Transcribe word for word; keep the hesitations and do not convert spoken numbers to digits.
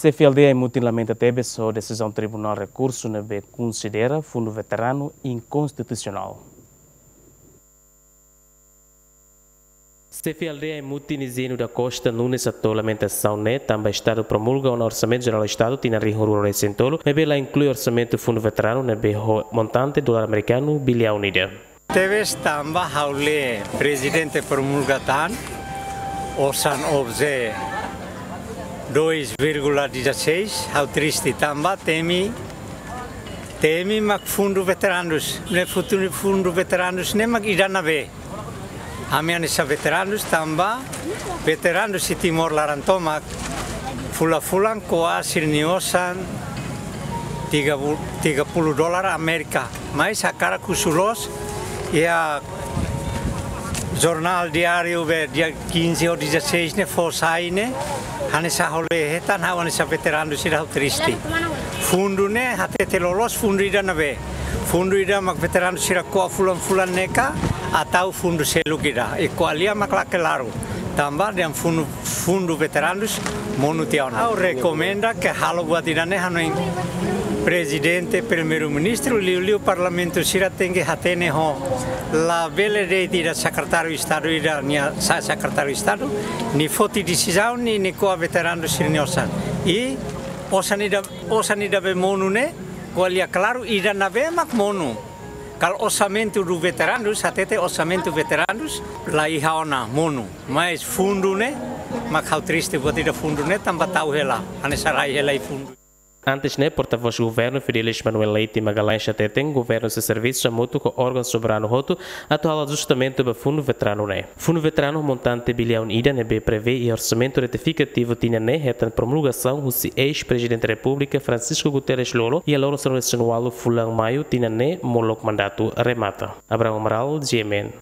Xefe aldeia Mutin lamenta tebes ho desizaun Tribunál Rekursu ne'ebé konsidera Fundu Veteranu inkonstitusionál. Xefe aldeia Mutin Izieno da Costa Nunes hato'o lamentasaun ne'e tanba Estadu promulga ona Orsamentu Jerál Estadu tinan rihun rua resin tolu, maibé la inklui orsamentu Fundu Veteranu ne'ebé ho montante dolar amerikanu biliaun ida. Tebes tanba ha'u lee Prezidente promulga tan osan obje dois vírgula dezasseis, ha'u triste tanba temi, temi mak Fundu Veteranus, ne'e futuru Fundu Veteranus ne'e mak ida-ne'ebé. Ami hanesan veteranus tanba veteranus iha Timor laran tomak fulan-fulan ko'a sira-nia osan tiga puluh, tiga puluh dolar Amérika. Mas hakarak husu loos, iha jornál diáriu be dia quinze ou dezasseis ne'e fó sai ne'e, hanesan ha'u lee hetan ha'u hanesan veteranu sira ha'u triste. Fundu ne'e hatete loloos fundu ida-ne'ebé. Fundu ida mak veteranu sira ko'a fulan-fulan ne'e ka, atau fundu seluk ida. I ko'alia mak la klaru. Tanba dehan fundu, Fundu Veteranus monu tiha ona. Ha'u rekomenda ke halo buat ida-ne'e hanoin Prezidente, Primeiru-Ministru, liuliu Parlamentu sira tenke hatene ho. Labele de'it ida Sekretáriu Estadu ida nia sa-, Sekretáriu Estadu nia foti desizaun nia, nia ko'a veteranu sira-nia osan. I osan ida, osan ida be monu ne'e, ko'alia klaru ida-ne'ebé mak monu. Kalau orsamentu do veteranus, hatete orsamentu veteranus, la iha ona monu. Mas fundu ne'e, mak ha'u triste buat ida fundu ne'e, tanba tau hela, hanesan rai hela iha fundu. Antes ne'e, portavós Governu Fidelis Manuel Leite Magalhães hatete, Governu sei servisu hamutuk ho órgaun soberanu hotu, atu halo ajustamentu ba Fundu Veteranu ne'e. Fundu Veteranu montante biliaun ida ne'ebé prevee iha Orsamentu Retifikativu tinan ne'e hetan promulgasaun husi eis-Prezidente Repúblika Francisco Guterres Lú-Olo iha loron sanulu-resin-ualu fulan Maiu tinan ne'e molok mandatu remata. Abrão Amaral, G M N.